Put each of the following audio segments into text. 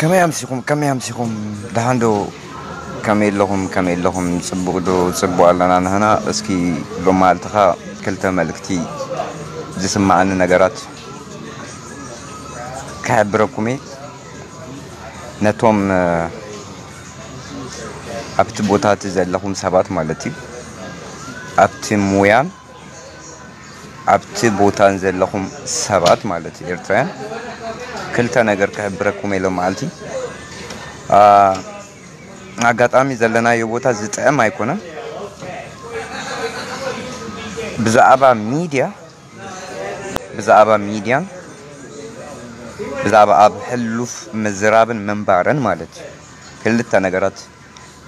ከመይ ኣምሲኹም? ከመይ ኣምሲኹም? ደሓን ዶ? ከመይ ኣለኹም? ከመይ ኣለኹም? ጽቡቕ ዶ? ጽቡቕ ኣለና ንህና። እስኪ ሎማዓልትኻ ክልተ መልእኽቲ ዝስምዓኒ ነገራት ክሕብረኩም እየ። ነቶም፣ እ፣ ኣብቲ ቦታ እቲ ዘለኹም ሰባት ማለት እዩ። ኣብቲ ሙያን ኣብቲ ቦታን ዘለኹም ሰባት ማለት እዩ፣ ኤርትራውያን፣ ክልተ ነገር ክሕብረኩም እየ ሎማዓልቲ። አ፣ ኣጋጣሚ ዘለናዮ ቦታ ዝጥዕም ኣይኮነን። ብዛዕባ ሚድያ፣ ብዛዕባ ሚድያን ብዛዕባ ኣብ ሕሉፍ ምዝራብን ምንባርን ማለት እዩ። ክልተ ነገራት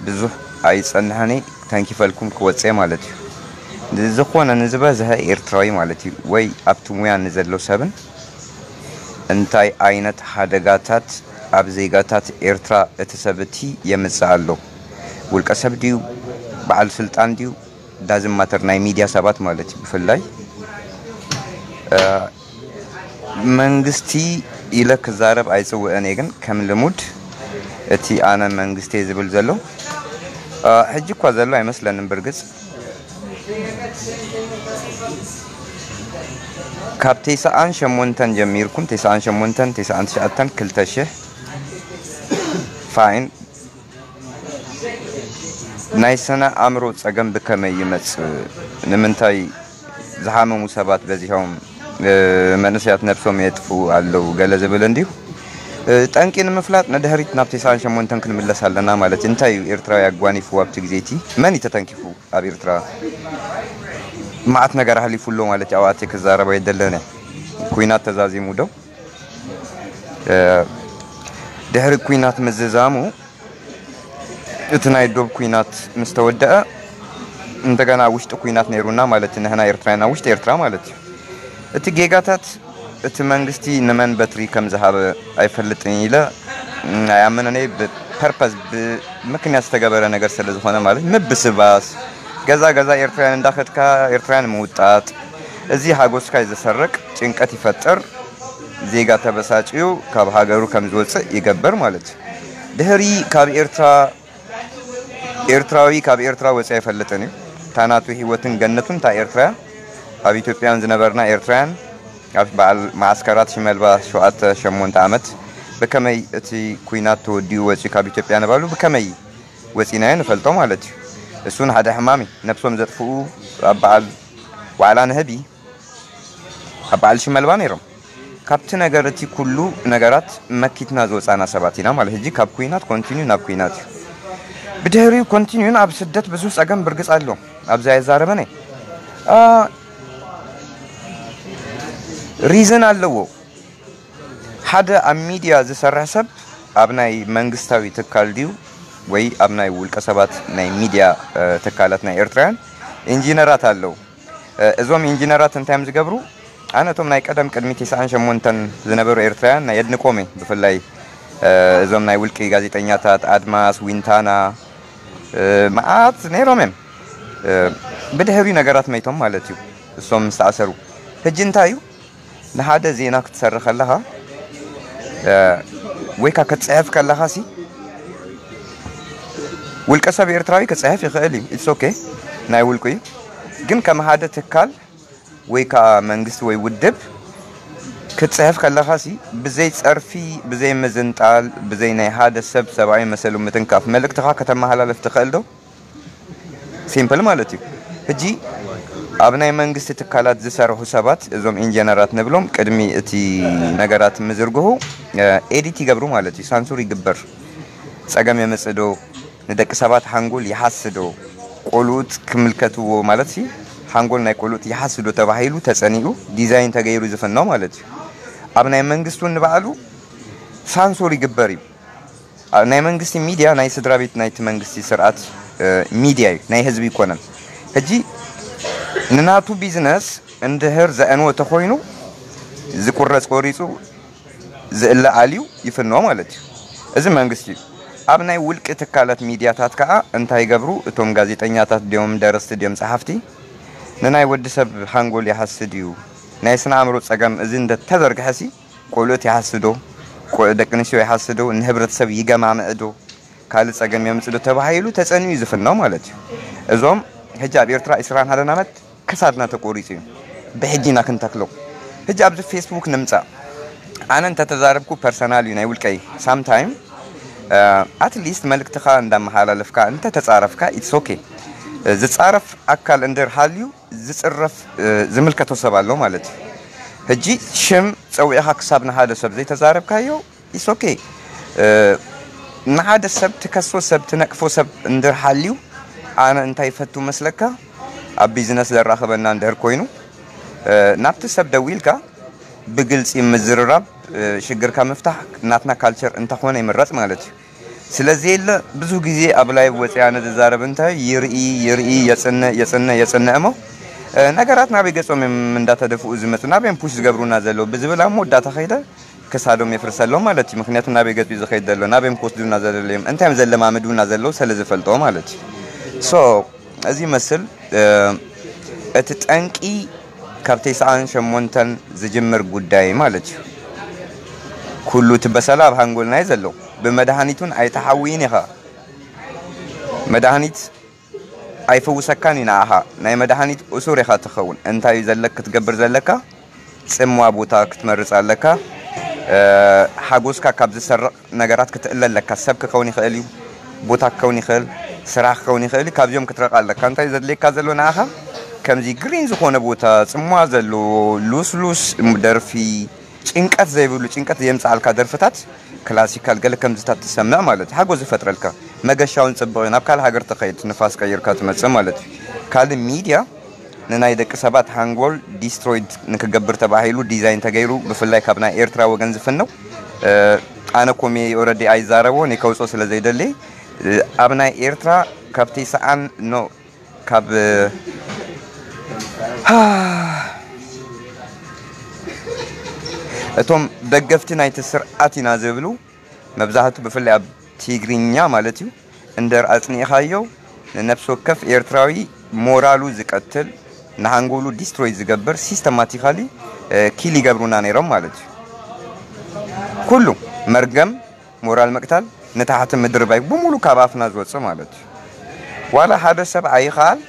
ብዙሕ ኣይጸንሐን እየ፣ ተንኪፈልኩም ክወጽእ ማለት እዩ። ንዝኾነ ንዝበዝሐ ኤርትራዊ ማለት እዩ፣ ወይ ኣብቲ ሙያ ንዘሎ ሰብን እንታይ ዓይነት ሓደጋታት ኣብ ዜጋታት ኤርትራ እቲ ሰብ እቲ የምጽእ ኣሎ? ውልቀ ሰብ ድዩ? በዓል ስልጣን ድዩ? ዳዝም ማተር፣ ናይ ሚድያ ሰባት ማለት እዩ ብፍላይ። እ፣ መንግስቲ ኢለ ክዛረብ ኣይጽውዕን እየ፣ ግን ከም ልሙድ እቲ ኣነ መንግስቲ ዝብል ዘሎ፣ እ፣ ሕጂ እኳ ዘሎ ኣይመስለንን። ብርግጽ ካብ ተስዓን ሸሞንተን ጀሚርኩም፣ ተስዓን ሸሞንተን፣ ተስዓን ትሽዓተን፣ ክልተ ሽሕ፣ ፋይን፣ ናይ ስነ ኣእምሮ ጸገም ብከመይ ይመጽእ? ንምንታይ ዝሓመሙ ሰባት በዚሖም፣ እ፣ መንእሰያት ነብሶም የጥፍኡ ኣለዉ? ገለ ዝብል እንድዩ። እ፣ ጠንቂ ንምፍላጥ ንድሕሪት ናብ ተስዓን ሸሞንተን ክንምለስ ኣለና ማለት እዩ። እንታይ እዩ ኤርትራዊ ኣጓኒፍዎ ኣብቲ ግዜ እቲ? መን እዩ ተተንኪፉ? ኣብ ኤርትራ መዓት ነገር ኣሕሊፉ ኣሎ ማለት እዩ። ኣብኣተይ ክዛረብ ኣይደለነ። ኩናት ተዛዚሙ ዶ? እ፣ ድሕሪ ኩናት ምዝዛሙ፣ እቲ ናይ ዶብ ኩናት ምስ ተወደአ፣ እንደገና ውሽጢ ኩናት ነይሩና ማለት እዩ። ንሕና ኤርትራውያን ኣብ ውሽጢ ኤርትራ ማለት እዩ። እቲ ጌጋታት፣ እቲ መንግስቲ ንመን በትሪ ከም ዝሃበ ኣይፈልጥን ኢለ ኣይኣምንን እየ። ብፐርፐዝ፣ ብምክንያት ዝተገበረ ነገር ስለ ዝኾነ ማለት፣ ምብስባስ፣ ገዛ ገዛ ኤርትራውያን እንዳኸድካ ኤርትራውያን ምውጣጥ፣ እዚ ሓጎስካ እዩ ዝሰርቅ፣ ጭንቀት ይፈጥር፣ ዜጋ ተበሳጭዩ ካብ ሃገሩ ከም ዝወፅእ ይገብር ማለት እዩ። ድሕሪ ካብ ኤርትራ፣ ኤርትራዊ ካብ ኤርትራ ወፂኡ ኣይፈልጥን እዩ። እታ ናቱ ህይወትን ገነቱን እታ ኤርትራ እያ። ኣብ ኢትዮጵያን ዝነበርና ኤርትራውያን ኣብ በዓል መዓስከራት ሽመልባ ሸውዓተ ሸሞንተ ዓመት ብከመይ እቲ ኩናት ተወዲኡ ወፂኡ ካብ ኢትዮጵያ ንባሉ ብከመይ ወፂናዮ ንፈልጦ ማለት እዩ። እሱን ሓደ ሕማም እዩ። ነብሶም ዘጥፍኡ ኣብ በዓል ዋዕላ ንህቢ ኣብ በዓል ሽመልባ ነይሮም። ካብቲ ነገር እቲ ኩሉ ነገራት መኪትና ዝወፃና ሰባት ኢና ማለት። ሕጂ ካብ ኩናት ኮንቲኒዩ ናብ ኩናት እዩ። ብድሕሪኡ ኮንቲኒዩን ኣብ ስደት ብዙሕ ፀገም ብርግፅ ኣሎ። ኣብዚ ኣይዛረበን እየ። አ፣ ሪዝን ኣለዎ። ሓደ ኣብ ሚድያ ዝሰርሕ ሰብ ኣብ ናይ መንግስታዊ ትካል ድዩ ወይ ኣብ ናይ ውልቀ ሰባት ናይ ሚድያ፣ እ፣ ትካላት ናይ ኤርትራውያን ኢንጂነራት ኣለዉ። እ፣ እዞም ኢንጂነራት እንታይ እዮም ዝገብሩ? ኣነ እቶም ናይ ቀደም ቅድሚ ተስዓን ሸሞንተን ዝነበሩ ኤርትራውያን ናይ የድንቆም እየ። ብፍላይ፣ እ፣ እዞም ናይ ውልቂ ጋዜጠኛታት ኣድማስ፣ ዊንታና፣ እ፣ መዓት ነይሮም እዮም። እ፣ ብድሕሪ ነገራት መይቶም ማለት እዩ። እሶም ምስ ተኣሰሩ። ሕጂ እንታይ እዩ? ንሓደ ዜና ክትሰርሕ ከለኻ፣ እ፣ ወይ ከኣ ክትጽሕፍ ከለኻ ሲ፣ ውልቀ ሰብ ኤርትራዊ ክጽሕፍ ይኽእል እዩ። ኢትስ ኦኬ። ናይ ውልቁ እዩ። ግን ከም ሓደ ትካል ወይ ከኣ መንግስቲ ወይ ውድብ ክትጽሕፍ ከለኻ ሲ፣ ብዘይ ጸርፊ፣ ብዘይ ምዝንጣል፣ ብዘይ ናይ ሓደ ሰብ ሰብኣዊ መሰሉ ምትንካፍ መልእክትኻ ከተመሓላልፍ ትኽእል ዶ? ሲምፕል ማለት እዩ። ሕጂ ኣብ ናይ መንግስቲ ትካላት ዝሰርሑ ሰባት፣ እዞም ኢንጀነራት ንብሎም፣ ቅድሚ እቲ ነገራት ምዝርግሑ፣ እ፣ ኤዲት ይገብሩ ማለት እዩ። ሳንሱር ይግበር። ጸገም የምጽእ ዶ? ንደቂ ሰባት ሓንጎል ይሃሲ ዶ? ቆልኡት ክምልከትዎ ማለት ሲ፣ ሓንጎል ናይ ቆልኡት ይሃሲ ዶ ተባሂሉ ተጸኒኡ፣ ዲዛይን ተገይሩ ዝፍኖ ማለት እዩ። ኣብ ናይ መንግስቲ እውን ንባዕሉ ሳንሱር ይግበር እዩ። ኣ-፣ ናይ መንግስቲ ሚድያ ናይ ስድራ ቤት ናይቲ መንግስቲ ስርዓት፣ እ፣ ሚድያ እዩ፣ ናይ ህዝቢ ይኮነን። ሕጂ ንናቱ ቢዝነስ እንድህር ዘዕንዎ ተኾይኑ፣ ዝቁረጽ ቆሪጹ፣ ዝእለ ኣልዩ ይፍኖ ማለት እዩ። እዚ መንግስቲ እዩ። ኣብ ናይ ውልቂ ትካላት ሚድያታት ከኣ እንታይ ይገብሩ? እቶም ጋዜጠኛታት ድዮም፣ ደረስቲ ድዮም፣ ጸሓፍቲ፣ ንናይ ወዲ ሰብ ሃንጎል ይሃሲ ድዩ? ናይ ስነ ኣእምሮ ጸገም እዚ እንደ ተዘርግሐ ሲ፣ ቆልኡት ይሃሲ ዶ? ቆ- ደቂ ኣንስትዮ ይሓስዱ፣ ንህብረተሰብ ይገማምዕዱ፣ ካልእ ጸገም የምጽዱ ተባሂሉ ተጸኒዩ ዝፍነው ማለት እዩ። እዞም ሕጂ ኣብ ኤርትራ ዕስራን ሓደን ዓመት ክሳድና ተቆሪጹ እዩ። ብሕጂ ኢና ክንተክሎ። ሕጂ ኣብዚ ፌስቡክ ንምጻእ። ኣነ እንተተዛረብኩ ፐርሰናል እዩ ናይ ውልቀይ። ሳምታይም ኣትሊስት መልእክትኻ እንዳመሓላለፍካ እንተተጻረፍካ ኢትስ ኦኬ። ዝጻረፍ ኣካል እንድር ሃልዩ ዝጽረፍ ዝምልከቶ ሰብ ኣሎ ማለት እዩ። ሕጂ ሽም ጸዊዕኻ ክሳብ ንሓደ ሰብ ዘይተዛረብካዮ ኢትስ ኦኬ። ንሓደ ሰብ ትከሶ ሰብ ትነቅፎ ሰብ እንድር ሓልዩ ኣነ እንታይ ይፈቱ መስለካ? ኣብ ቢዝነስ ዘራኽበና እንድህር ኮይኑ ናብቲ ሰብ ደዊልካ ብግልጺ ምዝርራብ ሽግርካ ምፍታሕ ናትና ካልቸር እንተኾነ ይምረጽ ማለት እዩ። ስለዚ የለ ብዙ ግዜ ኣብ ላይቭ ወፅያ ነዝዛረብ እንታይ ይርኢ ይርኢ የፅንዕ የፅንዕ የፅንዕ እሞ ነገራት ናበይ ገፆም እዮም እንዳተደፍኡ ዝመፁ ናበይም ፑሽ ዝገብሩና ዘለዉ ብዝብል ኣብ መወዳእታ ከይደ ክሳዶም የፍርሰሎም ማለት እዩ። ምክንያቱ ናበይ ገፂ ዝኸይድ ዘሎ ናበይም ክወስዱና ዘለለዮም እንታይም ዘለማምዱና ዘለዉ ስለ ዝፈልጦ ማለት እዩ። ሶ እዚ ይመስል እቲ ጠንቂ ካብ ተስዓን ሸሞንተን ዝጅምር ጉዳይ ማለት እዩ። ኩሉ እቲ በሰላ ኣብ ሃንጎልና እዩ ዘሎ። ብመድሃኒቱን ኣይተሓውይን ኢኻ። መድሃኒት ኣይፍውሰካን እዩ ንዓኻ። ናይ መድሃኒት እሱር ኢኻ ትኸውን። እንታይ እዩ ዘለክ ክትገብር ዘለካ? ጽምዋ ቦታ ክትመርጽ ኣለካ። ሓጎስካ ካብ ዝሰርቕ ነገራት ክትእለ ኣለካ። ሰብ ክኸውን ይኽእል እዩ፣ ቦታ ክኸውን ይኽእል፣ ስራሕ ክኸውን ይኽእል እዩ። ካብዚኦም ክትረቕ ኣለካ። እንታይ ዘድልየካ ዘሎ ንዓኻ? ከምዚ ግሪን ዝኾነ ቦታ፣ ጽምዋ ዘለዎ፣ ሉስሉስ ደርፊ፣ ጭንቀት ዘይብሉ፣ ጭንቀት ዘየምጽኣልካ ደርፍታት፣ ክላሲካል ገለ ከምዚታት ትሰምዕ ማለት እዩ። ሓጎስ ዝፈጥረልካ። መገሻውን ጽቡቕ እዩ። ናብ ካልእ ሃገር ትኸይድ፣ ንፋስ ቀይርካ ትመጽእ ማለት እዩ። ካልእ ሚድያ ንናይ ደቂ ሰባት ሃንጎል ዲስትሮይድ ንክገብር ተባሂሉ ዲዛይን ተገይሩ ብፍላይ ካብ ናይ ኤርትራ ወገን ዝፍነው ኣነ ኮሜ ኦረዲ ኣይዛረቦ ንከውፅኦ ስለ ዘይደሊ ኣብ ናይ ኤርትራ ካብ ተስዓን ኖ ካብ እቶም ደገፍቲ ናይቲ ስርዓት ኢና ዝብሉ መብዛሕቱ ብፍላይ ኣብ ትግርኛ ማለት እዩ እንደር ኣጽኒዕኻዮ ንነፍሲ ወከፍ ኤርትራዊ ሞራሉ ዝቀትል ንሃንጎሉ ዲስትሮይ ዝገብር ሲስተማቲካሊ ኪል ይገብሩና ነይሮም ማለት እዩ። ኩሉ መርገም ሞራል ምቅታል ንታሕቲ ምድርባይ ብሙሉ ካብ ኣፍና ዝወፅእ ማለት እዩ። ዋላ ሓደ ሰብ ኣይኻል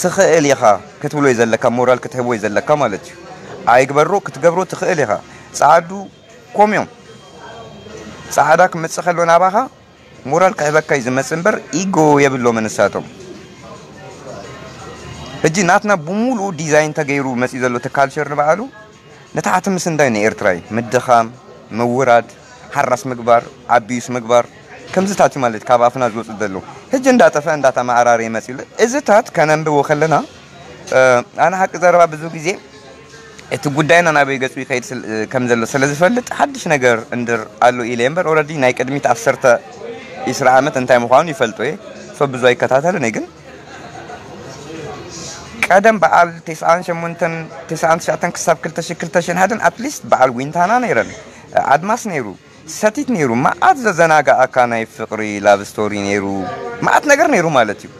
ትኽእል ኢኻ ክትብሎ እዩ ዘለካ ሞራል ክትህቦ እዩ ዘለካ ማለት እዩ። ኣይግበሮ ክትገብሮ ትኽእል ኢኻ። ፃዓዱ ኮምዮም ፃዕዳ ክመፅእ ከሎ ናባኻ ሞራል ክህበካ እዩ ዝመፅእ እምበር ኢጎ የብሎምን ንሳቶም። ሕጂ ናትና ብሙሉኡ ዲዛይን ተገይሩ መፅኡ ዘሎ እቲ ካልቸር ንባዕሉ ንታሕቲ ምስንዳይ ንኤርትራ እዩ። ምድኻም፣ ምውራድ፣ ሓራስ ምግባር፣ ኣቢዩስ ምግባር ከምዚታት እዩ ማለት ካብ ኣፍና ዝወፅእ ዘሎ። ሕጂ እንዳጠፈ እንዳተመዓራረየ መፅኡ ኣሎ። እዚታት ከነንብቦ ከለና ኣነ ሓቂ ዘረባ ብዙ ግዜ እቲ ጉዳይና ናበይ ገጹ ይኸይድ ከም ዘሎ ስለ ዝፈልጥ ሓድሽ ነገር እንድር ኣሎ ኢለ እምበር ኦረዲ ናይ ቅድሚት ዓሰርተ ዒስራ ዓመት እንታይ ምዃኑ ይፈልጦ እየ። ሶ ብዙ ኣይከታተልን እየ ግን ቀደም በዓል ተስዓን ሸሞንተን ተስዓን ትሽዓተን ክሳብ ክልተ ሽሕን ክልተ ሽሕን ሓደን ኣትሊስት በዓል ዊንታና ነይረን ኣድማስ ነይሩ ሰቲት ነይሩ መዓት ዘዘናግኣካ ናይ ፍቕሪ ላቭ ስቶሪ ነይሩ መዓት ነገር ነይሩ ማለት እዩ።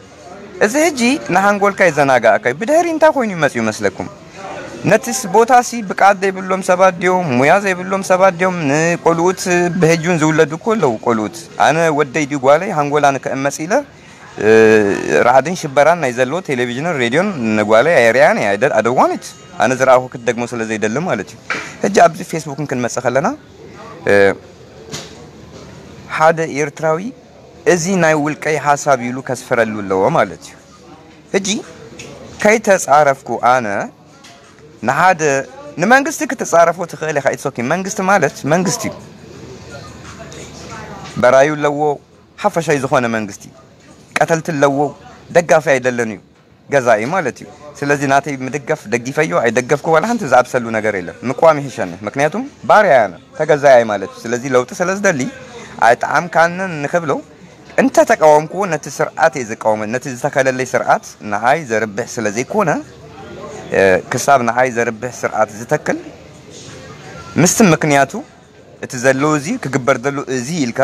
እዚ ሕጂ ንሃንጎልካ የዘናግኣካ እዩ። ብድሕሪ እንታይ ኮይኑ ይመጽእ ይመስለኩም? ነቲ ስ- ቦታ ሲ ብቃት ዘይብሎም ሰባት ድዮም ሙያ ዘይብሎም ሰባት ድዮም ንቆልኡት ብህጁን ዝውለዱ እኮ ኣለዉ ቆልኡት ኣነ ወደይ ድዩ ጓለይ ሃንጎላ ንክእመጽ ኢለ እ፣ ራዕድን ሽበራን ናይ ዘለዎ ቴሌቪዥንን ሬድዮን ንጓለይ ኣየርያን እየ ኣደዋኒት ኣነ ዝረኣኹ ክትደግሞ ስለ ዘይደሊ ማለት እዩ። ሕጂ ኣብዚ ፌስቡክን ክንመጽእ ከለና ሓደ ኤርትራዊ እዚ ናይ ውልቀይ ሓሳብ ኢሉ ከስፍረሉ ኣለዎ ማለት እዩ። ሕጂ ከይተጻረፍኩ ኣነ ንሓደ ንመንግስቲ ክትጻረፎ ትኽእል ኢኻ ኢትስ ኦኬ መንግስቲ ማለት መንግስቲ እዩ። በራዩ ኣለዎ ሓፈሻይ ዝኾነ መንግስቲ ቀተልቲ ኣለዎ ደጋፊ ኣይደለን እዩ ገዛኢ ማለት እዩ። ስለዚ ናተይ ምድጋፍ ደጊፈዮ ኣይደገፍኩ ዋላ ሓንቲ ዝኣብሰሉ ነገር የለን። ምቅዋም ይሕሸኒ ምክንያቱም ባርያ ያነ ተገዛያይ ማለት እዩ። ስለዚ ለውጢ ስለ ዝደሊ ኣይጠዓምካንን ንክብሎ እንተ ተቃወምኩዎ ነቲ ስርዓት እየ ዝቃወመ ነቲ ዝተከለለይ ስርዓት ንዓይ ዘርብሕ ስለ ዘይኮነ ክሳብ ንዓይ ዘርብሕ ስርዓት ዝተክል ምስቲ ምክንያቱ እቲ ዘሎ እዚ ክግበር ዘሎ እዚ ኢልካ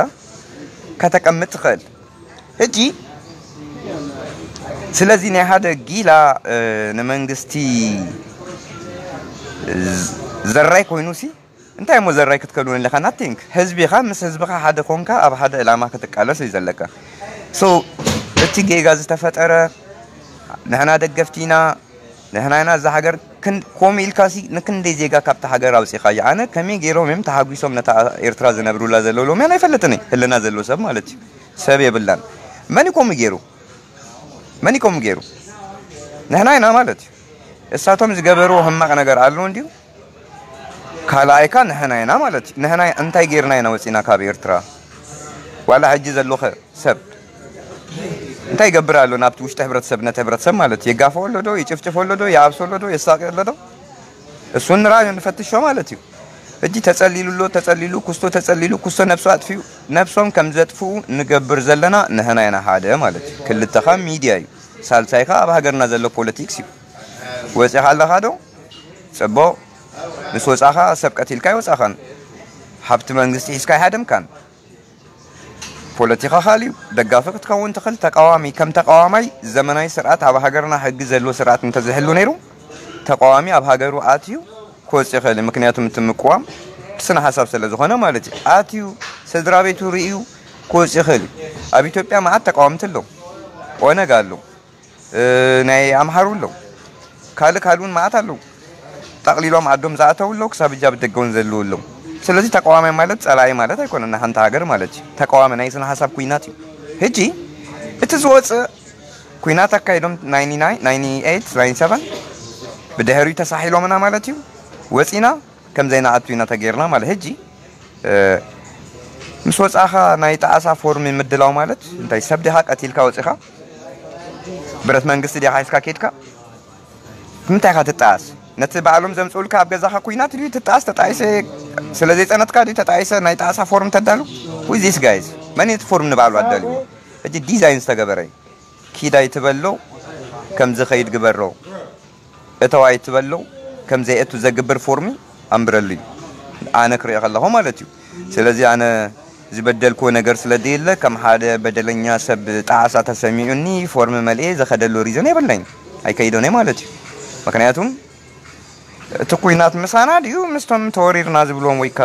ከተቀምጥ ትኽእል። ሕጂ ስለዚ ናይ ሓደ ጊላ ንመንግስቲ ዘራይ ኮይኑ ሲ እንታይ እሞ ዘራይ ክትከሉን ኣለካ? ናቲንግ። ህዝቢኻ ምስ ህዝብኻ ሓደ ኮንካ ኣብ ሓደ ዕላማ ክትቃለስ እዩ ዘለካ። ሶ እቲ ጌጋ ዝተፈጠረ ንሕና ደገፍቲ ኢና፣ ንሕና ኢና እዛ ሃገር ክን- ከምኡ ኢልካሲ ንክንደይ ዜጋ ካብቲ ሃገር ኣውፂኻዮ። ኣነ ከመይ ገይሮም እዮም ተሓጒሶም ነታ ኤርትራ ዝነብሩላ ዘለዉ ሎምያን ኣይፈልጥን እየ። ህልና ዘለዎ ሰብ ማለት እዩ። ሰብ የብላን። መን እዩ ከምኡ ገይሩ? መን እዩ ከምኡ ገይሩ? ንሕና ኢና ማለት እዩ። እሳቶም ዝገበርዎ ሕማቕ ነገር ኣሎ እንድዩ። ካልኣይካ ንሕና ኢና ማለት እዩ። ንሕና እንታይ ጌርና ኢና ወፂና ካብ ኤርትራ? ዋላ ሕጂ ዘለኸ ሰብ እንታይ ይገብር ኣሎ ናብቲ ውሽጢ ሕብረተሰብ፣ ነቲ ሕብረተሰብ ማለት እዩ? የጋፍኦ ኣሎ ዶ? ይጭፍጭፎ ኣሎ ዶ? ይኣብሶ ኣሎ ዶ? የሳቂ ኣሎ ዶ? እሱ ንራዮ ንፈትሾ ማለት እዩ። ሕጂ ተጸሊሉ ኣሎ፣ ተጸሊሉ፣ ኩስቶ ተጸሊሉ፣ ኩስቶ ነብሱ ኣጥፊኡ፣ ነብሶም ከም ዘጥፍኡ ንገብር ዘለና ንሕና ኢና ሓደ ማለት እዩ። ክልተኻ ሚድያ እዩ። ሳልሳይኻ ኣብ ሃገርና ዘሎ ፖለቲክስ እዩ። ወፂኻ ኣለኻ ዶ? ጽቡቕ። ምስ ወጻኻ ሰብ ቀቲልካ ኣይወጻኻን። ሃብቲ መንግስቲ ሒዝካ ኣይሃደምካን። ፖለቲኻ ካልዩ ደጋፊ ክትከውን ትኽእል፣ ተቃዋሚ። ከም ተቃዋማይ ዘመናዊ ስርዓት ኣብ ሃገርና ሕጊ ዘለዎ ስርዓት እንተዝህሉ ነይሩ ተቃዋሚ ኣብ ሃገሩ ኣትዩ ክወጽእ ይኽእል እዩ። ምክንያቱም እቲ ምቅዋም ስነ ሓሳብ ስለ ዝኾነ ማለት እዩ። ኣትዩ ስድራ ቤቱ ርእዩ ክወጽእ ይኽእል እዩ። ኣብ ኢትዮጵያ መዓት ተቃወምቲ ኣለዉ። ኦነግ ኣሎ፣ እ፣ ናይ ኣምሓሩ ኣለዉ፣ ካልእ ካልእ እውን መዓት ኣለዉ። ጠቕሊሎም ዓዶም ዝኣተዉ ኣለዉ፣ ክሳብ እጃ ብደገ እውን ዘለዉ ኣለዉ። ስለዚ ተቃዋማይ ማለት ጸላኢ ማለት ኣይኮነን፣ ንሓንቲ ሃገር ማለት እዩ። ተቃዋሚ ናይ ስነ ሓሳብ ኩናት እዩ። ሕጂ እቲ ዝወጽእ ኩናት ኣካይዶም ናይንቲ ናይን፣ ናይንቲ ኤይት፣ ናይንቲ ሰቨን ብድሕሪኡ ተሳሒሎምና ማለት እዩ። ወጺና ከም ዘይንኣቱ ኢና ተጌርና ማለት። ሕጂ፣ እ፣ ምስ ወጻኻ ናይ ጣዕሳ ፎርም ምድላው ማለት እንታይ? ሰብ ዲኻ ቀቲልካ ወጺኻ? ብረት መንግስቲ ዲኻ ሒዝካ ኬድካ? ንምንታይ ኢኻ ትጣኣስ? ነቲ ባዕሎም ዘምጽኡልካ ኣብ ገዛኻ ኩናት ድዩ ትጣኣስ? ተጣኢሰ ስለ ዘይጸነትካ ድዩ ተጣኢሰ ናይ ጣዕሳ ፎርም ተዳሉ? Who is this guys? መን እዩ እቲ ፎርም ንባዕሉ ኣዳልዎ? ሕጂ ዲዛይን ዝተገበረ እዩ። ኪድ ኣይትበሎ፣ ከም ዝኸይድ ግበሮ። እተው ኣይትበሎ፣ ከም ዘይእቱ ዘግብር ፎርሚ ኣንብረሉ እዩ። ኣነ ክሪኦ ከለኹ ማለት እዩ። ስለዚ ኣነ ዝበደልክዎ ነገር ስለ ዘየለ፣ ከም ሓደ በደለኛ ሰብ ጣዕሳ ተሰሚዑኒ ፎርሚ መልኤ ዝኸደሉ ሪዝን የብለይን። ኣይከይዶን እየ ማለት እዩ። ምክንያቱም እቲ ኩናት ምሳና ድዩ ምስቶም ተወሪርና ዝብልዎም ወይ ከ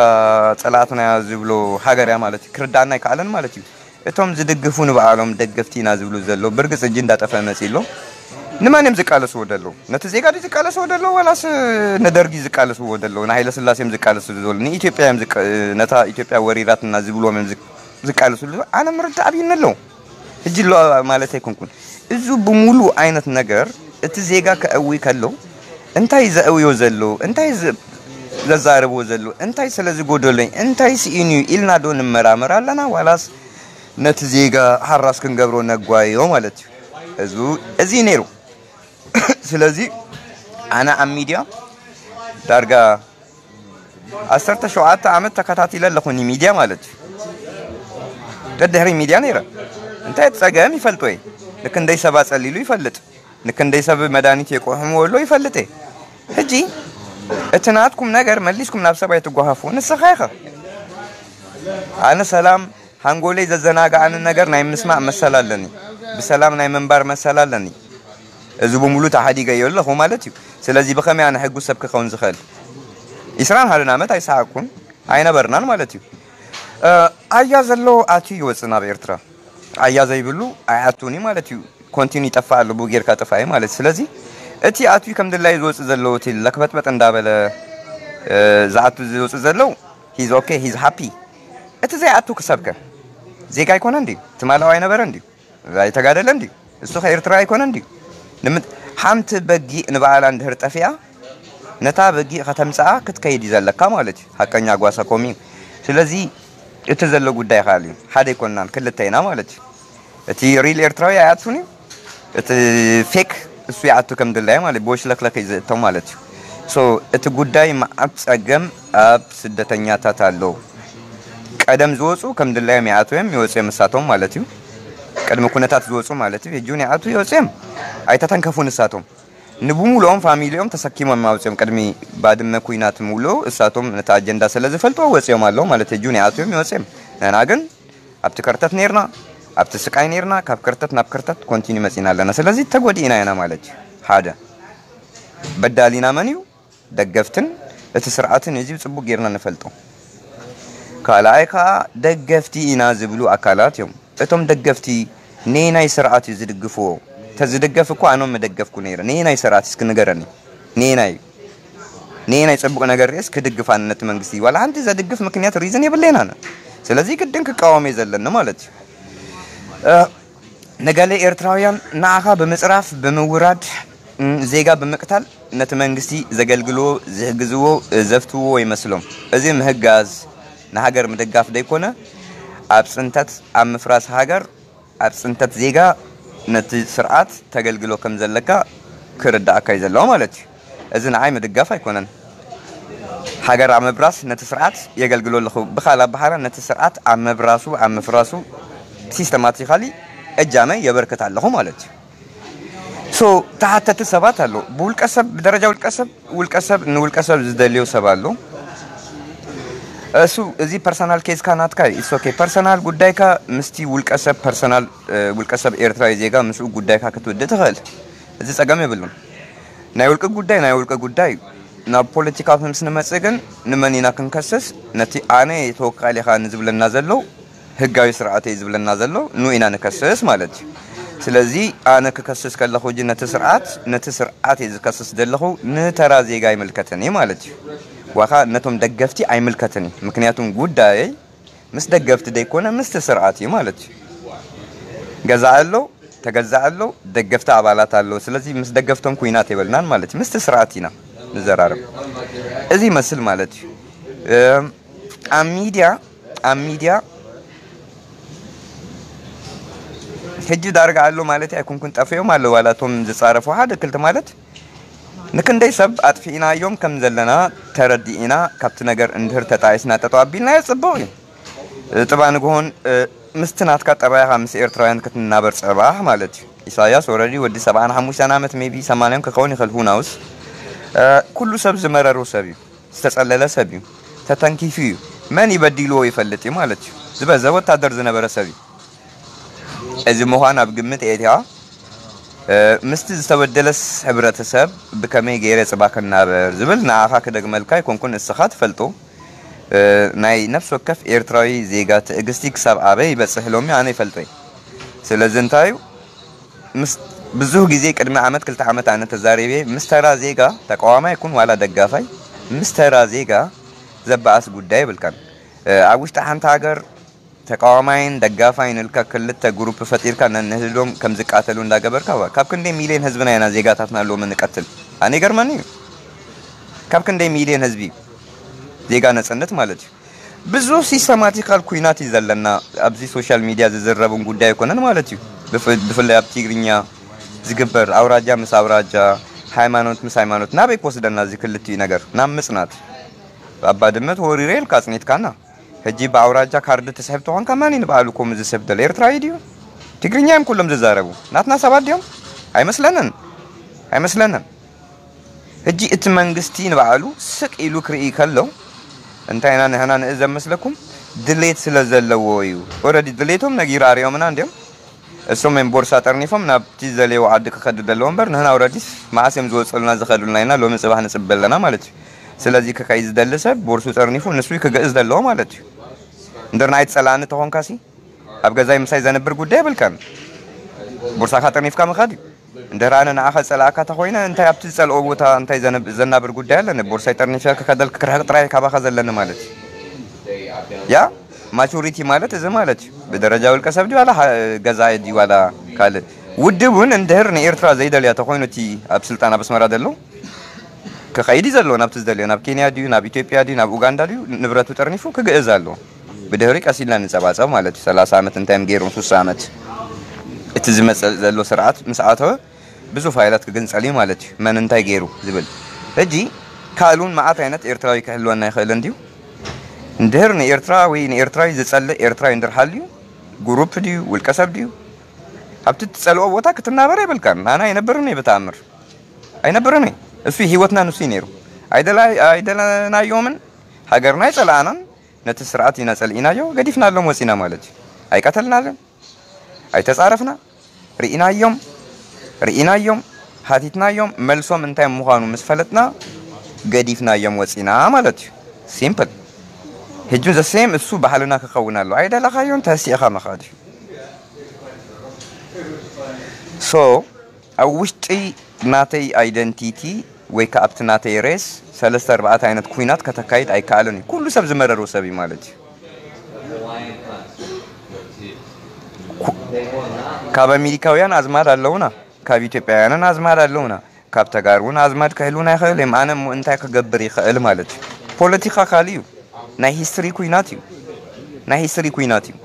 ጸላእትና ዝብሎ ሃገር እያ ማለት እዩ። ክርዳእና ኣይከኣለን ማለት እዩ። እቶም ዝድግፉ ንባዕሎም ደገፍቲ ኢና ዝብሉ ዘለዉ፣ ብርግጽ ሕጂ እንዳጠፍአ መጺኡ ኣሎ። ንመን እዮም ዝቃለስዎ ዘለዉ? ነቲ ዜጋ ድዩ ዝቃለስዎ ዘለዉ? ዋላስ ንደርጊ ዝቃለስዎ ዘለዉ? ንሃይለ ስላሴ እዮም ዝቃለስሉ ዘለዉ? ንኢትዮጵያ እዮም ዝቃ-፣ ነታ ኢትዮጵያ ወሪራትና ዝብልዎም እዮም ዝቅ-፣ ዝቃለስሉ ዘለዉ? ኣነ ምርዳእ ኣብዩኒ ኣለዉ። ሕጂ ኣሎ ማለት ኣይኮንኩን። እዙ ብምሉእ ዓይነት ነገር እቲ ዜጋ ከእዊ ከሎ እንታይ ዘእውዮ ዘሎ፣ እንታይ ዘ-፣ ዘዛርብዎ ዘሎ፣ እንታይ ስለ ዝጎደሎኝ፣ እንታይ ስኢኑ እዩ ኢልና ዶ ንመራመር ኣለና? ዋላስ ነቲ ዜጋ ሓራስ ክንገብሮ ነጓዮ ማለት እዩ? እዚ፣ እዚ እዩ ነይሩ። ስለዚ ኣነ ኣብ ሚድያ ዳርጋ ዓሰርተ ሸውዓተ ዓመት ተከታቲለ ኣለኹ፣ ንሚድያ ማለት እዩ። ደድሕሪ ሚድያ ነይረ። እንታይ እቲ ጸገም ይፈልጦ እየ። ንክንደይ ሰብ ኣጸሊሉ ይፈልጥ። ንክንደይ ሰብ መድሃኒት የቁሕምዎ ኣሎ ይፈልጥ እየ። ሕጂ እቲ ናትኩም ነገር መሊስኩም ናብ ሰብ ኣይትጓሃፉ። ንስኻ ኢኻ። ኣነ ሰላም፣ ሃንጎለይ ዘዘናግዓኒ ነገር ናይ ምስማዕ መሰል ኣለኒ። ብሰላም ናይ ምንባር መሰል ኣለኒ። እዚ ብምሉእ ተሓዲገዮ ኣለኹ ማለት እዩ። ስለዚ ብኸመይ ኣነ ሕጉስ ሰብ ክኸውን ዝኽእል? ዒስራን ሓደን ዓመት ኣይሰሓቅኩን፣ ኣይነበርናን ማለት እዩ። እ፣ ኣያ ዘሎ ኣትዩ ይወፅእ ናብ ኤርትራ። ኣያ ዘይብሉ ኣይኣቱን እዩ ማለት እዩ። ኮንቲኑ ይጠፍእ ኣሎ፣ ብኡ ጌርካ ጥፋኢ ማለት እዩ። ስለዚ እቲ ኣትዩ ከም ድላዩ ዝወፅእ ዘሎ፣ እቲ ለክበጥበጥ እንዳበለ፣ እ፣ ዝኣቱ ዝወፅእ ዘሎ፣ he's okay, he's happy። እቲ ዘይኣቱ ክሰብከ ዜጋ ኣይኮነን ድዩ? ትማላው ኣይነበረን ድዩ? ኣይተጋደለን ድዩ? እሱ ከ ኤርትራ ኣይኮነን ድዩ? ንምንት-፣ ሓንቲ በጊእ ንባዕላ እንድህር ጠፊኣ፣ ነታ በጊእ ከተምጽኣ ክትከይድ እዩ ዘለካ ማለት እዩ። ሓቀኛ ጓሳ ኮም እዩ። ስለዚ እቲ ዘሎ ጉዳይ ካልእ እዩ። ሓደ ኣይኮንናን፣ ክልተ ኢና ማለት እዩ። እቲ ሪል ኤርትራዊ ኣይኣቱን እዩ። እቲ ፌክ እሱ ይኣቱ ከም ድላዩ ማለት እዩ። ብወሽለክለክ እዩ ዝእቶ ማለት እዩ። ሶ እቲ ጉዳይ መዓት ጸገም ኣብ ስደተኛታት ኣሎ። ቀደም ዝወጹ ከም ድላዮም ይኣትዉ እዮም፣ ይወጹ እዮም ንሳቶም ማለት እዩ። ቅድሚ ኩነታት ዝወጹ ማለት እዩ። ሕጂ እውን ይኣትዉ ይወጹ እዮም። ኣይተተንከፉ ንሳቶም። ንብሙሉኦም ፋሚሊኦም ተሰኪሞም ኣውጺኦም ቅድሚ ባድመ ኩናት ምውልኡ እሳቶም ነቲ ኣጀንዳ ስለ ዝፈልጥዎ ወጺኦም ኣለዉ ማለት እዩ። ሕጂ እውን ይኣትዉ እዮም ይወጹ እዮም። ንሕና ግን ኣብቲ ከርተት ነይርና፣ ኣብቲ ስቃይ ነይርና፣ ካብ ከርተት ናብ ከርተት ኮንቲኒ መጺና ኣለና። ስለዚ ተጎዲእና ኢና ማለት እዩ። ሓደ በዳሊና መን እዩ? ደገፍትን እቲ ስርዓትን እዚ ጽቡቕ ጌርና ንፈልጦ። ካልኣይ ከኣ ደገፍቲ ኢና ዝብሉ ኣካላት እዮም። እቶም ደገፍቲ ነየናይ ስርዓት እዩ ዝድግፍዎ? ተዝድገፍ እኮ ኣነ መደገፍኩ ነይረ። ነየናይ ስርዓት እስኪ ንገረኒ? ነየናይ ነየናይ ጽቡቕ ነገር ርእስ ክድግፍ ኣነ ነቲ መንግስቲ ዋላ ሓንቲ ዘድግፍ ምክንያት ሪዝን የብለይን ኣነ። ስለዚ ግድን ክቃወም እየ ዘለኒ ማለት እዩ። እ፣ ንገለ ኤርትራውያን ንዓኻ ብምጽራፍ፣ ብምውራድ፣ እም፣ ዜጋ ብምቅታል ነቲ መንግስቲ ዘገልግልዎ፣ ዝሕግዝዎ፣ እ፣ ዘፍትውዎ ይመስሎም። እዚ ምህጋዝ ንሃገር ምድጋፍ ደይኮነ ኣብ ጽንተት፣ ኣብ ምፍራስ ሃገር፣ ኣብ ጽንተት ዜጋ ነቲ ስርዓት ተገልግሎ ከም ዘለካ ክርዳኣካ እዩ ዘለዎ ማለት እዩ። እዚ ንዓይ ምድጋፍ ኣይኮነን። ሃገር ኣብ ምብራስ ነቲ ስርዓት የገልግሎ ኣለኹ። ብኻል ኣባሓራ ነቲ ስርዓት ኣብ ምብራሱ፣ ኣብ ምፍራሱ ሲስተማቲካሊ እጃመ የበርክት ኣለኹ ማለት እዩ። ሶ ተሓተቲ ሰባት ኣሎ። ብውልቀ ሰብ፣ ብደረጃ ውልቀ ሰብ፣ ውልቀ ሰብ ንውልቀ ሰብ ዝደልዮ ሰብ ኣሎ። እሱ እዚ ፐርሰናል ኬዝካ ናትካ እዩ። ኢትስ ኦኬ። ፐርሰናል ጉዳይካ ምስቲ ውልቀ ሰብ ፐርሰናል፣ እ፣ ውልቀ ሰብ ኤርትራዊ ዜጋ ምስኡ ጉዳይካ ክትውድእ ትኽእል። እዚ ጸገም የብሉን። ናይ ውልቂ ጉዳይ ናይ ውልቂ ጉዳይ እዩ። ናብ ፖለቲካ ምስ ንመጽእ ግን ንመን ኢና ክንከስስ? ነቲ ኣነ ተወካሊ ኢኻ ንዝብለና ዘሎ ህጋዊ ስርዓት እዩ ዝብለና ዘሎ ንኡ ኢና ንከስስ ማለት እዩ። ስለዚ ኣነ ክከስስ ከለኹ እጂ ነቲ ስርዓት፣ ነቲ ስርዓት እየ ዝከስስ ዘለኹ፣ ንተራ ዜጋ ኣይምልከትን እዩ ማለት እዩ። ዋኻ ነቶም ደገፍቲ ኣይምልከትን እዩ። ምክንያቱም ጉዳየይ ምስ ደገፍቲ ደይኮነ ምስቲ ስርዓት እዩ ማለት እዩ። ገዛእ ኣሎ፣ ተገዛእ ኣሎ፣ ደገፍቲ ኣባላት ኣሎ። ስለዚ ምስ ደገፍቶም ኩናት የበልናን ማለት እዩ። ምስቲ ስርዓት ኢና ንዘራረብ። እዚ ይመስል ማለት እዩ። እም፣ ኣብ ሚድያ፣ ኣብ ሚድያ ሕጂ ዳርጋ ኣሎ ማለት ኣይኮንኩን፣ ጠፊኦም ኣሎ ዋላ እቶም ዝጻረፉ ሓደ ክልተ ማለት ንክንደይ ሰብ ኣጥፊእናዮም ከም ዘለና ተረዲእና ካብቲ ነገር እንድህር ተጣይስና ጠጠው ኣቢልናዮ ጽቡቕ እዩ። እ፣ ጥባ ንግሆን፣ እ፣ ምስቲ ናትካ ጠባይኻ ምስ ኤርትራውያን ክትናበር ጸባሕ ማለት እዩ። ኢሳያስ ወረዲ ወዲ ሰብዓን ሓሙሽተን ዓመት ሜቢ ሰማንያን ክኸውን ይኽእል፣ who knows። እ፣ ኩሉ ሰብ ዝመረሩ ሰብ እዩ። ዝተጸለለ ሰብ እዩ። ተተንኪፉ እዩ። መን ይበዲልዎ ይፈልጥ እዩ ማለት እዩ። ዝበዘ ወታደር ዝነበረ ሰብ እዩ። እዚ ምዃን ኣብ ግምት ኤትያ፣ እ፣ ምስቲ ዝተበደለስ ሕብረተሰብ ብከመይ ገይረ ጽባ ክናበር ዝብል ንዓኻ ክደግመልካ ኣይኮንኩን፣ እስኻ ትፈልጦ። እ፣ ናይ ነፍሲ ወከፍ ኤርትራዊ ዜጋ ትዕግስቲ ክሳብ ኣበይ ይበጽሕ ሎሚ ኣነ ይፈልጦ እየ። ስለዚ እንታይ እዩ፣ ምስ ብዙህ ግዜ ቅድሚ ዓመት ክልተ ዓመት ኣነ ተዛሪበ ምስ ተራ ዜጋ ተቃዋማይ ይኩን ዋላ ደጋፋይ ምስ ተራ ዜጋ ዘበኣስ ጉዳይ ይብልካን። እ፣ ኣብ ውሽጢ ሓንቲ ሃገር ተቃዋማይን ደጋፋይን ኢልካ ክልተ ግሩፕ ፈጢርካ ነንህድዶም ከም ዝቃተሉ እንዳገበርካ ዋ፣ ካብ ክንደይ ሚልዮን ህዝብና ኢና ዜጋታትና ሎሚ ንቀትል? ኣነ ይገርመኒ እዩ። ካብ ክንደይ ሚልዮን ህዝቢ ዜጋ ነጽንት ማለት እዩ። ብዙ ሲስተማቲካል ኩናት እዩ ዘለና። ኣብዚ ሶሻል ሚድያ ዝዝረብን ጉዳይ ኣይኮነን ማለት እዩ። ብፍ-፣ ብፍላይ ኣብ ትግርኛ ዝግበር ኣውራጃ ምስ ኣውራጃ፣ ሃይማኖት ምስ ሃይማኖት ናበይ ክወስደና እዚ ክልቲኡ ነገር? ናብ ምጽናት። ኣባ ድመት ወሪረ ኢልካ ኣጽኒትካና። ሕጂ ብኣውራጃ ካርድ ትስሕብ ተኾንካ መን እዩ ንባዕሉ ከምኡ ዝስሕብ ዘሎ? ኤርትራዊ ድዩ? ትግርኛ እዮም ኩሎም ዝዛረቡ። ናትና ሰባት ድዮም? ኣይመስለንን። ኣይመስለንን። ሕጂ እቲ መንግስቲ ንባዕሉ ስቅ ኢሉ ክርኢ ከሎ እንታይ ኢና ንሕና ንእዘብ መስለኩም? ድሌት ስለ ዘለዎ እዩ። ኦረዲ ድሌቶም ነጊሩ ኣርዮምና እንዲዮም። እሶም እዮም ቦርሳ ጠርኒፎም ናብቲ ዝደለይዎ ዓዲ ክኸዱ ዘለዎ እምበር ንሕና ኦረዲስ መዓስ እዮም ዝወፀሉና ዝኸዱልና ኢና ሎሚ ፅባሕ ንፅበ ኣለና ማለት እዩ። ስለዚ ክኸይ ዝደሊ ሰብ ቦርሱ ጠርኒፉ ንሱ ክገእዝ ዘለዎ ማለት እዩ። እንድር ናይ ትፀላእኒ ተኾንካሲ ኣብ ገዛይ ምሳይ ዘንብር ጉዳይ የብልካን። ቦርሳኻ ጠርኒፍካ ምኻድ እዩ። እንድሕር ኣነ ንዓኻ ዝጸላእካ ተኾይነ እንታይ ኣብቲ ዝጸልኦ ቦታ እንታይ ዘነብ-፣ ዘናብር ጉዳይ ኣለኒ? ቦርሳይ ጠርኒፈ ክኸደልክ ክርሕቕ ጥራይ ካባኻ ዘለኒ ማለት እዩ። ያ ማቹሪቲ ማለት እዚ ማለት እዩ። ብደረጃ ውልቀ ሰብ ድዩ ዋላ ሓ-፣ ገዛኢ ድዩ ዋላ ካልእ? ውድብ እውን እንድሕር ንኤርትራ ዘይደልያ ተኾይኑ እቲ ኣብ ስልጣን ኣብ ኣስመራ ዘሎ ክኸይድ እዩ ዘለዎ ናብቲ ዝደልዮ፣ ናብ ኬንያ ድዩ፣ ናብ ኢትዮጵያ ድዩ፣ ናብ ኡጋንዳ ድዩ፣ ንብረቱ ጠርኒፉ ክግእዝ ኣለዎ። ብድሕሪ ቀስ ኢልና ንጸባጸብ ማለት እዩ። ሰላሳ ዓመት እንታይ እዮም ገይሮም? ሱሳ ዓመት። እቲ ዝመጽእ ዘሎ ስርዓት ምስ ኣተወ ብዙ ፋይላት ክግንጸል እዩ ማለት እዩ። መን እንታይ ገይሩ ዝብል። ሕጂ ካልኡን መዓት ዓይነት ኤርትራዊ ክህልወና ይኽእል እንድዩ። እንድህር ንኤርትራ ወይ ንኤርትራዊ ዝጸልእ ኤርትራዊ እንድር ሃልዩ፣ ግሩፕ ድዩ፣ ውልቀ ሰብ ድዩ፣ ኣብቲ ትጸልኦ ቦታ ክትናበር የብልካን። ኣነ ኣይነብርን እየ ብተኣምር። ኣይነብርን እየ። እሱ ህይወትና ንሱ እዩ ነይሩ። ኣይደላ-፣ ኣይደለናዮምን፣ ሃገርና ኣይጸላእናን፣ ነቲ ስርዓት ኢና ጸሊእናዮ፣ ገዲፍናሎም ወጺና ማለት እዩ። ኣይቀተልናለን፣ ኣይተጻረፍና፣ ርኢናዮም፣ ርኢናዮም፣ ሃቲትናዮም፣ መልሶም እንታይ ምዃኑ ምስ ፈለጥና፣ ገዲፍናዮም ወፂና ማለት እዩ። ሲምፕል። ሕጂ ዘ ሴም እሱ ባህልና ክኸውን ኣሎ። ኣይደለኻዮን ተሲእኻ ምኻድ እዩ። ሶ ኣብ ውሽጢ ናተይ ኣይደንቲቲ ወይ ከዓ ኣብቲ ናተይ ሬስ ሰለስተ ኣርባዕተ ዓይነት ኩናት ከተካይድ ኣይከኣልን እዩ። ኩሉ ሰብ ዝመረሩ ሰብ እዩ ማለት እዩ። ካብ ኣሜሪካውያን ኣዝማድ ኣለውና፣ ካብ ኢትዮጵያውያንን ኣዝማድ ኣለውና፣ ካብ ተጋሩ እውን ኣዝማድ ክህልውና ይኽእል እዮም። ኣነ እሞ እንታይ ክገብር ይኽእል ማለት እዩ። ፖለቲካ ካልእ እዩ። ናይ ሂስትሪ ኩናት እዩ። ናይ ሂስትሪ ኩናት እዩ።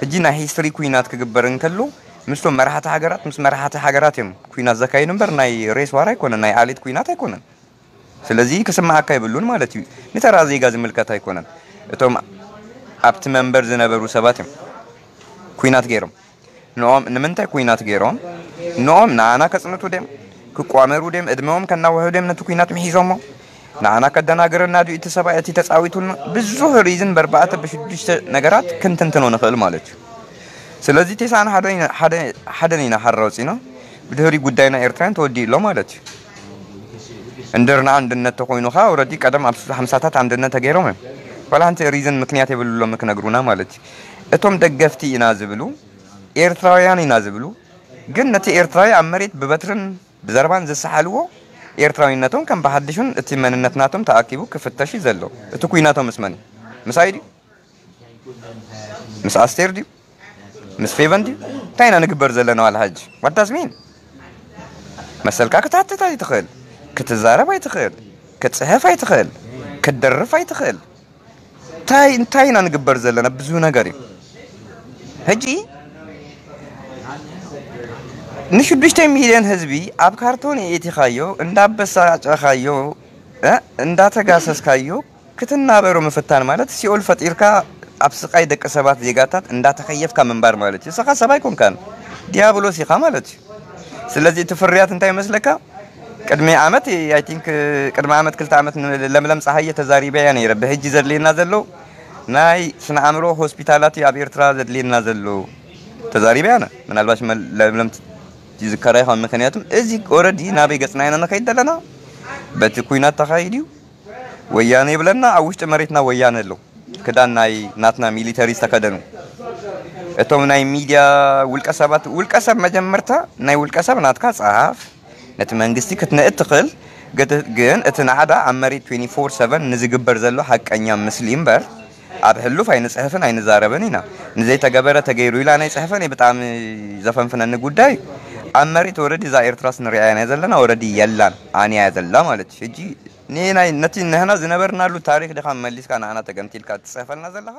ሕጂ ናይ ሂስትሪ ኩናት ክግበር እንከሎ ምስቶም መራሕቲ ሃገራት ምስ መራሕቲ ሃገራት እዮም ኩናት ዘካይዱ እምበር ናይ ሬስ ዋር ኣይኮነን፣ ናይ ኣሊት ኩናት ኣይኮነን። ስለዚ ክስማዓካ ይብሉን ማለት እዩ። ንተራ ዜጋ ዝምልከት ኣይኮነን። እቶም ኣብቲ መንበር ዝነበሩ ሰባት እዮም ኩናት ገይሮም። ንኦም ንምንታይ ኩናት ገይሮም? ንኦም ንኣና ከጽንቱ ድዮም? ክቋመሩ ድዮም? እድመኦም ከናውሑ ድዮም ነቲ ኩናት ምሒዞሞ? ንኣና ከደናግረና ድዩ እቲ ሰብኣይ እቲ ተጻዊቱልና? ብዙሕ ሪዝን በርባዕተ ብሽዱሽተ ነገራት ክንትንትኖ ንኽእል ማለት እዩ። ስለዚ ቴሳን ሓደ ኢና- ሓደ- ሓደን ኢና ሓራ ወጺና ብድህሪ ጉዳይና ኤርትራን ተወዲኡ ኣሎ ማለት እዩ። እንድርና ኣንድነት ተኮይኑኻ ወረዲ ቀደም ኣብ ሓምሳታት ኣንድነት ተገይሮም እዮም። ዋላ ሓንቲ ሪዝን ምክንያት የብሉሎም ክነግሩና ማለት እዩ። እቶም ደገፍቲ ኢና ዝብሉ ኤርትራውያን ኢና ዝብሉ ግን ነቲ ኤርትራዊ ኣብ መሬት ብበትርን ብዘረባን ዝሰሓልዎ ኤርትራዊነቶም ከም ብሓድሹን እቲ መንነት ናቶም ተኣኪቡ ክፍተሽ እዩ ዘሎ። እቲ ኩናቶም ምስ መን እዩ? ምስ ኣይ ድዩ? ምስ ኣስቴር ድዩ? ምስ ፌቨን ድዩ? እንታይ ኢና ንግበር ዘለና ዋላ ሕጂ? What does mean? መሰልካ ክትሓትት ኣይትኽእል፣ ክትዛረብ ኣይትኽእል፣ ክትጽሕፍ ኣይትኽእል፣ ክትደርፍ ኣይትኽእል። እንታይ እንታይ ኢና ንግበር ዘለና? ብዙ ነገር እዩ። ሕጂ ንሽዱሽተ ሚልዮን ህዝቢ ኣብ ካርቶን የእቲኻዮ እንዳበሳጨኻዮ እ እንዳተጋሰስካዮ ክትናበሩ ምፍታን ማለት ሲኦል ፈጢርካ ኣብ ስቃይ ደቂ ሰባት ዜጋታት እንዳተኸየፍካ ምንባር ማለት እዩ። ንስኻ ሰብ ኣይኮንካን፣ ዲያብሎስ ኢኻ ማለት እዩ። ስለዚ እቲ ፍርያት እንታይ ይመስለካ? ቅድሚ ዓመት ኣይ ቲንክ ቅድሚ ዓመት ክልተ ዓመት ለምለም ፀሃየ ተዛሪበያ ነይረ። ብሕጂ ዘድልየና ዘሎ ናይ ስነ ኣእምሮ ሆስፒታላት እዩ ኣብ ኤርትራ ዘድልየና ዘሎ። ተዛሪበያ ነ ምናልባሽ ለምለም ይዝከራ ይኸውን። ምክንያቱም እዚ ኦረዲ ናበይ ገፅና ኢና ንኸይድ ዘለና በቲ ኩናት ተኻይድ እዩ። ወያነ ይብለና ኣብ ውሽጢ መሬትና ወያነ ኣሎ። ክዳን ናይ ናትና ሚሊተሪ ዝተከደኑ እቶም ናይ ሚድያ ውልቀ ሰባት ውልቀ ሰብ መጀመርታ ናይ ውልቀ ሰብ ናትካ ጸሓፍ ነቲ መንግስቲ ክትንእድ ትኽእል። ግን እቲ ናዕዳ ኣብ መሬት ትዌንቲ ፎር ሰቨን ንዝግበር ዘሎ ሓቀኛ ምስሊ እምበር ኣብ ሕሉፍ ኣይንጽሕፍን ኣይንዛረብን ኢና። ንዘይተገበረ ተገይሩ ኢላ ናይ ጽሕፈን ብጣዕሚ ዘፈንፍነኒ ጉዳይ ኣብ መሬት ወረዲ እዛ ኤርትራስ ንሪኣያ ናይ ዘለና ወረዲ የላን ኣንያ ዘላ ማለት እዩ። ሕጂ ንናይ ነቲ ንሕና ዝነበርናሉ ታሪኽ ዲኻ መሊስካ ንዓና ተገምቲልካ ትጽሕፈልና ዘለኻ?